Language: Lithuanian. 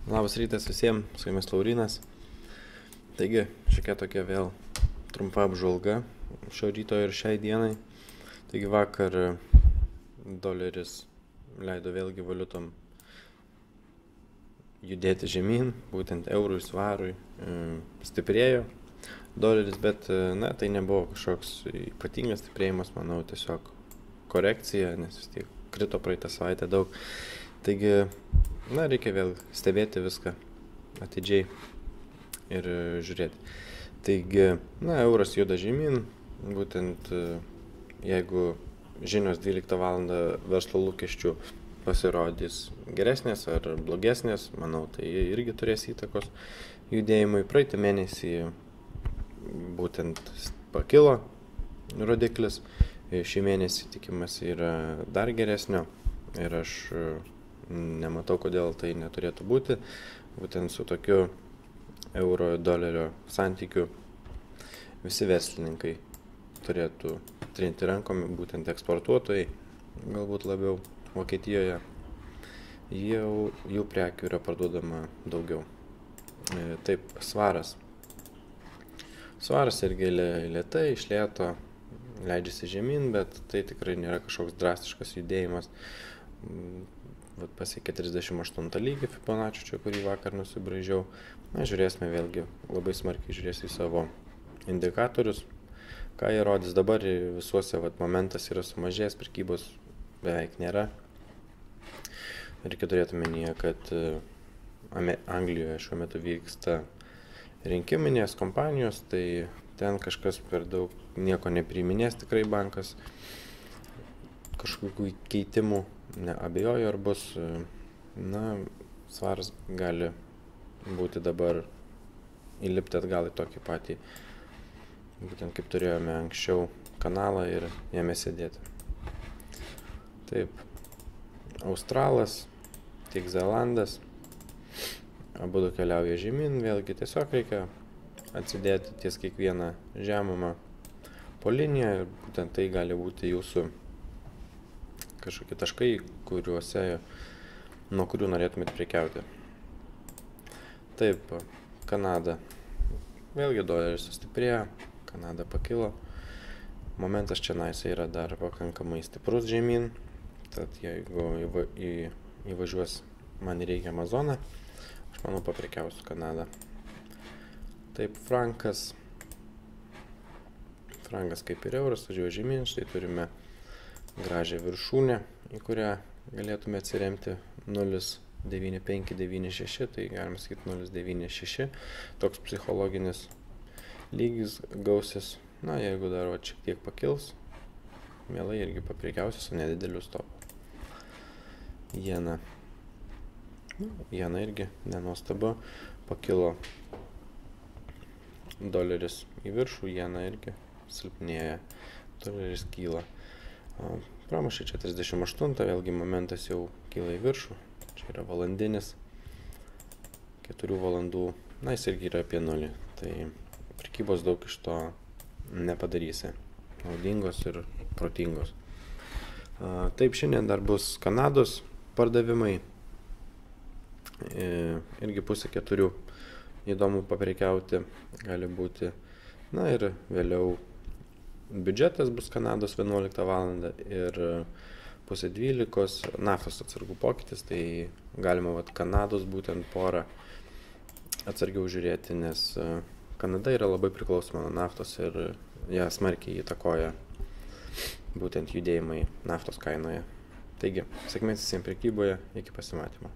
Labas rytas visiems, su jumis Laurinas. Taigi, šiokia tokia vėl trumpa apžvalga šio ryto ir šiai dienai. Taigi vakar doleris leido vėlgi valiutom judėti žemyn, būtent eurui, svarui, stiprėjo doleris, bet tai nebuvo kažkoks ypatingas stiprėjimas, manau, tiesiog korekcija, nes vis tiek krito praeitą savaitę daug. Taigi, reikia vėl stebėti viską atidžiai ir žiūrėti. Taigi, euras juda žemyn, būtent jeigu žinios 12 val. Verslo lūkesčių pasirodys geresnės ar blogesnės, manau, tai irgi turės įtakos judėjimui. Praeitą mėnesį būtent pakilo rodiklis, šį mėnesį tikimasi yra dar geresnio ir aš nematau, kodėl tai neturėtų būti. Būtent su tokiu euro dolerio santykiu visi verslininkai turėtų trinti rankomi, būtent eksportuotojai, galbūt labiau Vokietijoje. Jų prekių yra parduodama daugiau. Taip, svaras. Svaras irgi lėtai, iš lėto leidžiasi žemyn, bet tai tikrai nėra kažkoks drastiškas judėjimas. Pasiekė 38 lygį Fibonacci, kurį vakar nusibraižiau. Žiūrėsime vėlgi, labai smarkiai žiūrėsiu į savo indikatorius. Ką jie rodys dabar, visuose momentas yra sumažėjęs, prekybos beveik nėra. Reikia turėti omenyje, kad Anglijoje šiuo metu vyksta rinkiminės kompanijos, tai ten kažkas per daug nieko nepriiminės, tikrai bankas kažkokių keitimų neabejoju, ar bus. Svaras gali būti dabar įlipti atgal į tokį patį, būtent kaip turėjome anksčiau, kanalą ir jame sėdėti. Taip, Australas, tiek Zelandas, abudu keliauja žemyn, vėlgi tiesiog reikia atsidėti ties kiekvieną žemumą po liniją ir būtent tai gali būti jūsų kažkokie taškai, nuo kurių norėtumėt prekiauti. Taip, Kanada. Vėlgi doleris sustiprėjo, Kanada pakilo. Momentas čia yra dar pakankamai stiprus žemyn, tad jeigu įvažiuos man į reikiamą zoną, aš manau paprekiausiu Kanadą. Taip, frankas. Frankas kaip ir euras važiuoja žemyn, štai turime gražią viršūnę, į kurią galėtume atsiremti 0,9596, tai galima sakyti 0,96, toks psichologinis lygis gausis. Jeigu dar šiek tiek pakils, mielai irgi paprekiausiu su nedideliu stopu. Jena. Jena irgi nenuostabu, pakilo doleris į viršų, jena irgi silpnėja, doleris kyla. Pramušė čia 38, vėlgi momentas jau kyla į viršų, čia yra valandinis, 4 valandų, jis irgi yra apie 0, tai prekybos daug iš to nepadarysi, naudingos ir protingos. Taip, šiandien dar bus Kanados pardavimai, irgi 3:30, įdomu paprekiauti gali būti, ir vėliau biudžetas bus Kanados 11 val. Ir 11:30 naftos atsargų pokytis, tai galima Kanados būtent porą atsargiau žiūrėti, nes Kanada yra labai priklausoma nuo naftos ir ją smarkiai įtakoja būtent judėjimai naftos kainoje. Taigi, sėkmės visiems prekyboje, iki pasimatymo.